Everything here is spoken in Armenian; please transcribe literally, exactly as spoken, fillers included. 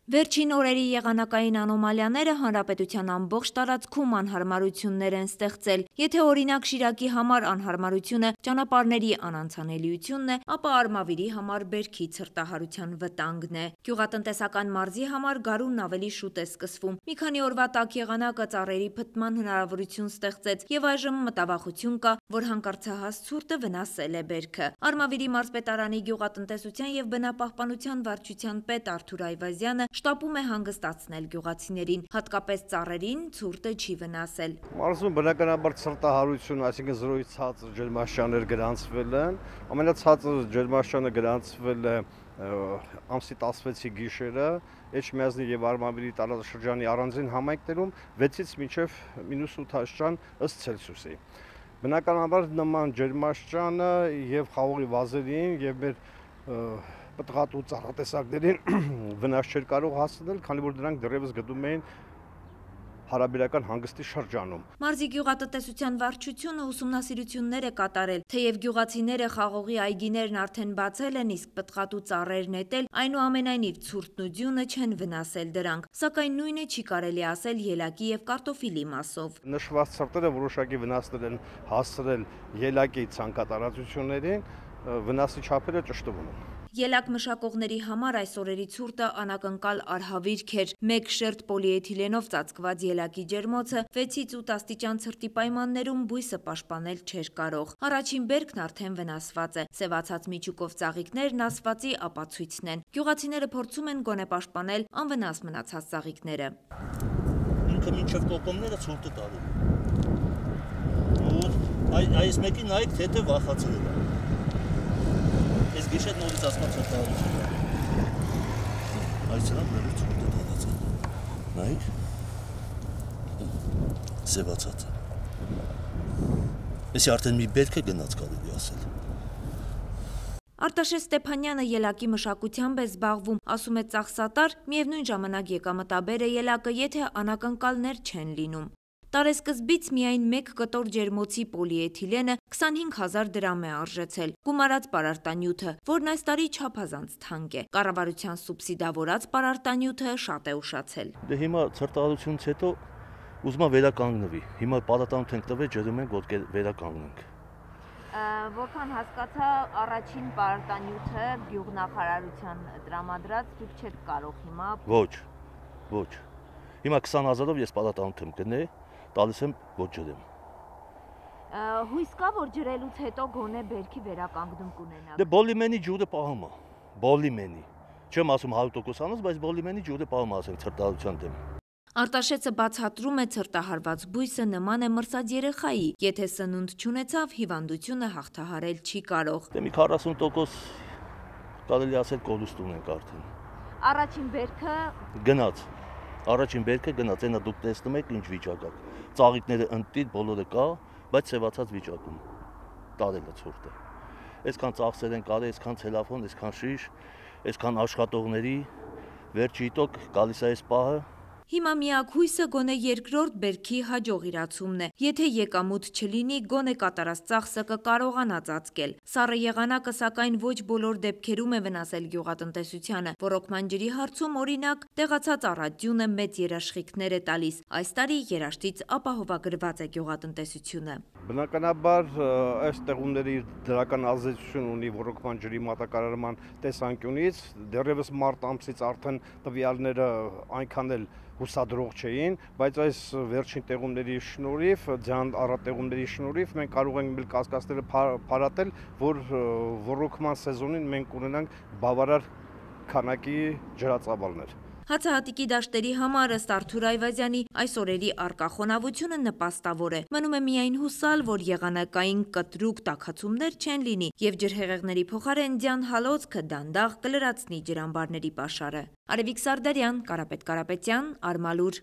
Վերջին օրերի եղանակային անոմալիաները հանրապետության ամբողջ տարածքում անհարմարություններ են ստեղծել։ Եթե օրինակ Շիրակի համար անհարմարությունը ճանապարհների անանցանելիությունն է, ապա Արմավիրի համար բերքի ցրտահարության վտանգն է։ Գյուղատնտեսական մարզի համար գարունն ավելի շուտ է սկսվում։ Մի քանի օրվա տաք եղանակը ծառերի փտման հնարավորություն ստեղծեց եւ այժմ մտավախություն կա, որ հանկարծահաս ցուրտը վնասել է բերքը։ Արմավիրի մարզպետարանի գյուղատնտեսության եւ բնապահպանության վարչության պետ Արթուր Այվազյանը շտապում է հանգստացնել գյուղացիներին, հատկապես ծառերին ցուրտը չի վնասել։ Մարզում բնականաբար ցրտահարություն, այսինքն զրոյից ցածր ջերմաստիճաններ գրանցվել են։ Ամենացածր ջերմաստիճանը գրանցվել է ամսի տասնվեցի գիշերը, Էջմիածնի եւ Արմավիրի տարածաշրջանի առանձին համայնքներում վեցից մինչեւ մինուս ութ աստիճան ըստ Ցելսիուսի։ Բնականաբար նման ջերմաստիճանը եւ խաղողի վազերին եւ մեր պտղատու ծառատեսակներին վնաս չէր կարող հասնել, քանի որ դրանք դեռևս գտնվում էին հարաբերական հանգստի շրջանում։ Մարզի գյուղատնտեսության վարչությունը ուսումնասիրություններ է կատարել, թեև գյուղացիները խաղողի այգիներն արդեն բացել են, իսկ պտղատու ծառեր նետել, այնուամենայնիվ ցուրտն ու ձյունը չեն վնասել դրանք, սակայն նույնը չի կարելի ասել ելակի եւ կարտոֆիլի մասով։ Նշված ցրտերը որոշակի վնասներ են հասցրել ելակի ցանկատարածություններին, վնասի չափերը ճշտվում են։ Ելակ մշակողների համար այս օրերի ցուրտը անակնկալ արհավիրք էր։ Մեկ շերտ պոլիէթիլենով ծածկված ելակի ջերմոցը վեցից ութ աստիճան ցրտի պայմաններում բույսը պաշտպանել չէր կարող։ Առաջին բերքն արդեն վնասված է։ Սևացած միջուկով ծաղիկներն ասվածի ապացույցն են։ Գյուղացիները փորձում են գոնե պաշտպանել անվնաս մնացած ծաղիկները։ Ինքը մինչև կոկոնները ցուրտը տալու։ Ու այս մեկին նայեք, թե թե վախացել է։ Ես գիշեր նորից ասված ցրտահարություն է։ Այս սրան նորից ցուրտը տալացել։ Նայեք։ Սևացած է։ Էսի արդեն մի բերք է գնաց կարելի ասել։ Արտաշես Ստեփանյանը ելակի մշակությամբ է զբաղվում, ասում է ծախսատար, միևնույն ժամանակ եկամտաբեր է ելակը, եթե անակնկալներ չեն լինում։ Տարեսկզբից միայն մեկ կտոր ջերմոցի պոլիէթիլենը քսանհինգ հազար դրամ է արժեցել, գումարած պարարտանյութը, որն այս տարի չափազանց թանկ է։ Կառավարության սուբսիդավորած պարարտանյութը շատ է ուշացել։ Դե հիմա ցրտահարությունից հետո ուզում եմ վերականգնվի։ Հիմա պարարտանյութ ենք տվել, ջրում ենք, որ վերականգնենք։ Որքան հասկացա, առաջին պարարտանյութը գյուղնախարարության տրամադրած դուք չեք կարող հիմա։ Ոչ, ոչ։ Հիմա քսան հազարով ես պարարտանյութ եմ գնել, տալիս եմ ոչ ջրեմ։ Հույս կա, որ ջրելուց հետո գոնե բերքի վերականգնում կունենաք։ Դե բոլիմենի ջուրը պահում է, բոլիմենի։ Չեմ ասում հարյուր տոկոս անց, բայց բոլիմենի ջուրը պահում է, ասենք ցրտահարության դեմ։ Արտաշեսը բացատրում է ցրտահարված բույսը նման է մրսած երեխայի, եթե սնունդ չունեցավ, հիվանդությունը հաղթահարել չի կարող։ Դե մի քառասուն տոկոս կարելի ասել կորուստ ունենք արդեն։ Առաջին բերքը գնաց։ Առաջին բերքը գնաց, այնա դուք տեսնում եք ինչ վիճակա։ Ծաղիկները ընտիր բոլորը կա, բայց սևացած վիճակում։ Տարել է ցուրտը։ Այսքան ծախսեր են կարել, այսքան ցելոֆան, այսքան շիշ, այսքան աշխատողների, վերջի տոկ գալիս է այս պահը։ Հիմա միակ հույսը գոնե երկրորդ բերքի հաջող իրացումն է։ Եթե եկամուտ չլինի, գոնե կատարած ծախսը կկարողանա ծածկել։ Սառը եղանակը սակայն ոչ բոլոր դեպքերում է վնասել գյուղատնտեսությանը։ Ոռոգման ջրի հարցում օրինակ տեղացած առատյունը մեծ երաշխիքներ է տալիս։ Այս տարի երաշտից ապահովագրված է գյուղատնտեսությունը։ Բնականաբար այս տեղումների դրական ազդեցություն ունի ոռոգման ջրի մատակարարման տեսանկյունից, դեռևս մարտ ամսից արդեն տվյալները այնքան էլ հուսադրող չէին, բայց այս վերջին տեղումների շնորհիվ, ձյան առատեղումների շնորհիվ մենք կարող ենք մեր կասկածները փարատել, որ ոռոգման սեզոնին մենք ունենանք բավարար քանակի ջրածավալներ։ Հացահատիկի դաշտերի համար ըստ Արթուր Այվազյանի այս օրերի առկա խոնավությունը նպաստավոր է։ Մնում է միայն հուսալ, որ եղանակային կտրուկ տաքացումներ չեն լինի եւ ջրհեղեղների փոխարեն ձյան հալոցքը դանդաղ կլրացնի ջրամբարների պաշարը։ Արևիկ Սարդարյան, Կարապետ Կարապետյան, Արմալուր։